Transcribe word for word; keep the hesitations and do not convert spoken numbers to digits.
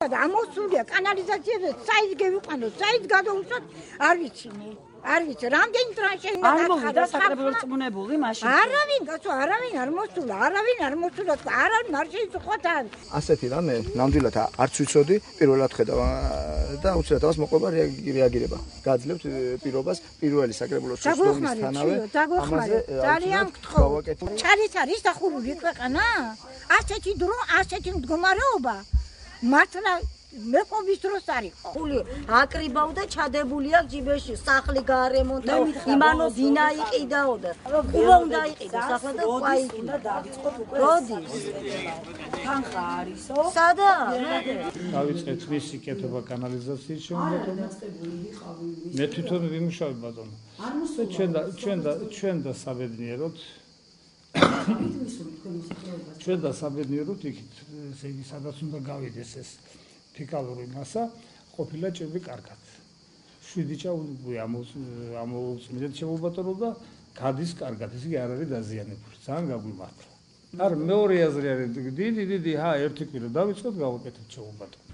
ამოსულია კანალიზაციაზე, საით გევიყვანოთ, საით გადავუშვათ, არ ვიცი. არ ვიცი, რამდენი ტრანშე უნდა არ მოვიდა საკრებულოს წმუნებული მაშინ. არავინ, კაცო, არავინ არ მოსულა, არავინ არ მოსულა, არავინ არ შეიწყოთ. ასეთი რამე ნამდვილად არც ვიცოდი, პირველად ხედავ და უცებ თავს მოყვება რეაგირება. გაძლევთ პირობას პირველი საკრებულოს სულთნისთანავე. ამაზე ძალიან გთხოვ. ჩარის არის დახურული ქვეყანა? ასეთი დრო, ასეთი მდგომარეობა. მართლა მეყობის დროს არის ხული აკრიბავ და ჩადებულია ჯიბეში სახლი გაარემონტა იმანო დინა იყიდაო და ყუვა უნდა იყიდო სახლა და ყაი უნდა დავიწყოთ უკვე როდის თანხა არისო სადა დავიწყეთ მისი კეთება კანალიზაციის შემოქმედება მე თვითონ ვიმუშავე ბატონო ჩვენ და ჩვენ და ჩვენ და საბედნიეროდ ჩვენ და საბედნიეროდ იქით ესე იგი სადაც უნდა გავიდეს ეს ფიკალური მასა ყოფილა ჭირვი კარგად. შვიდი ჩაუგუი ამოუწმიდეთ შემობატონო და გადის კარგად, ესე იგი არ არის დაზიანებული. ძალიან გაგვიმართლა. არ მეორე აზრი არის დიდი დიდი ჰა ერთი კვირა დავიწყოთ გავაკეთებთ შემობატონო.